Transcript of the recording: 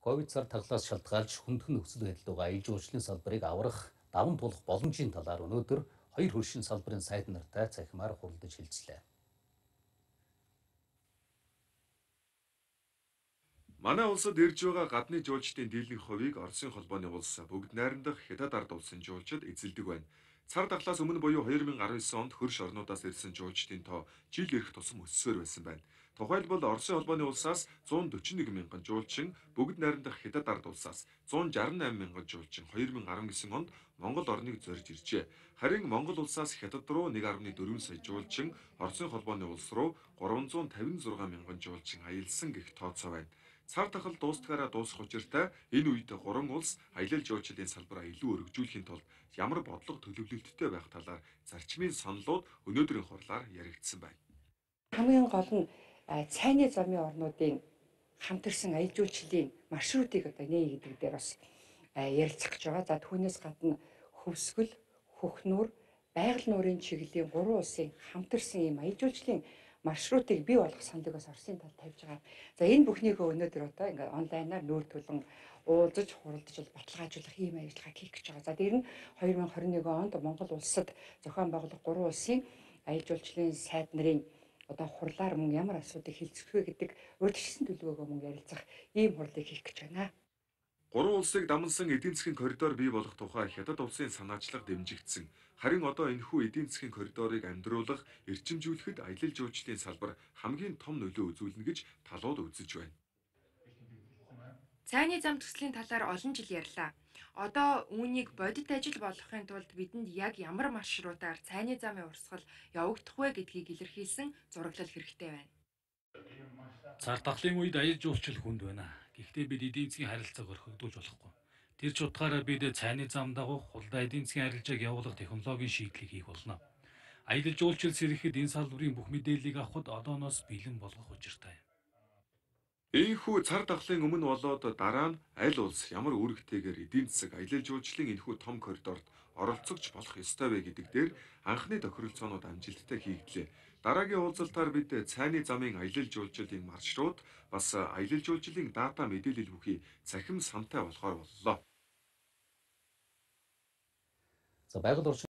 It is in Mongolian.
Ковид цар таглаас шалтгаалж хүндхэн нөхцөл байдалд байгаа ил жуулчлалын салбарыг аврах, даван туулах боломжийн талаар өнөөдөр хоёр хөршин салбарын сайд нартай цахимаар хуралдаж хэлцлээ. Манай улсад ирж байгаа гадны жуулчдын дийлэнх хувийг Оросын холбооны улс бүгд найрамдах Хятад ард улсын жуулчид эзэлдэг байна. Цар таглаас өмнө буюу 2019 онд хөрш орнуудаас ирсэн жуулчдын тоо жил ирэх тусам өссөөр байсан байна. Тухайлбал Оросын холбооны улсаас 141 мянган жуулчин, бүгд найрамдах Хятад ард улсаас 168 мянган жуулчин 2019 онд Монгол орныг зорж иржээ. Харин Монгол улсаас Хятад руу 1.4 сая жуулчин, Оросын холбооны улс руу 356 мянган жуулчин аялсан гэх тооцоо байна. Цар тахал дуустгаараа дуусах учиртай энэ үед гурван улс аялал жуулчлалын салбараа илүү өргөжүүлэхийн тулд ямар бодлого төлөвлөлттэй байх талаар зарчмын саналууд өнөөдрийн хурлаар яригдсан байна. Хамгийн гол нь цайны замын орнуудын хамтарсан аялал жуулчлалын маршрутыг одоо нээгээд дээр бас ярилцах гэж байгаа. За түүнээс гадна хөвсгөл, хөхнүүр, байгаль нуурын чиглэлийн гурван улсын хамтарсан ийм аялал жуулчлалын маршрутыг бий болгох саналыг бас Оросын талд тавьж байгаа. За энэ бүхнийгөө өнөөдөр одоо ингээд онлайнаар нүүртүүлэн уулзаж, хуралдаж баталгаажуулах ийм ажиллагааг хийх гэж байгаа. За дээр нь 2021 онд Монгол улсад зохион байгуулах гурван улсын аялал жуулчлалын сайд нарын одоо хурлаар мөн ямар асуудыг хилцэх вэ гэдэг урьдчилсан төлөвөөгөө мөн ярилцах ийм хурлыг хийх гэж байна. Гурван улсыг дамнасан эдийн засгийн коридор бий болох тухай Хятад улсын санаачлага дэмжигдсэн. Харин одоо энэхүү эдийн засгийн коридорыг амьдруулах, эрчимжүүлэхэд аялал жуулчлалын салбар хамгийн том нөлөө үзүүлнэ гэж талууд үзэж байна. Цайны зам төслийн талаар олон жил ярьлаа. Одоо үүнийг бодит ажил болгохын тулд бидэнд яг ямар маршрутаар цайны замын урсгал явагдах вэ гэдгийг илэрхийлсэн зураглал хэрэгтэй байна. Цар тахлын үед аялал жуулчлал хүнд байна. Гэхдээ бид эдийн засгийн харилцааг орхигдуулж болохгүй. Тэр ч утгаараа бид цайны зам дагуух хулдаа эдийн засгийн харилцааг явуулах технологийн шийдлийг хийх болно. Аялал жуулчлал сэргэхэд энэ салбарын бүх мэдээллийг авахд одооноос бэлэн болгох учиртай. Ийхүү цар тахлын өмнө болоод дараа нь аль улс ямар үүрэгтэйгээр эдийн засаг аялал жуулчлалын энэхүү том коридорт оролцогч болох ёстой вэ гэдэг дээр анхны тохиролцоонууд амжилттай хийгдлээ. Дараагийн уулзалтаар бид цайны замын аялал жуулчлалын маршрут бас аялал жуулчлалын дата мэдээлэл бүхий цахим сантай болохоор боллоо. За байгаль орчин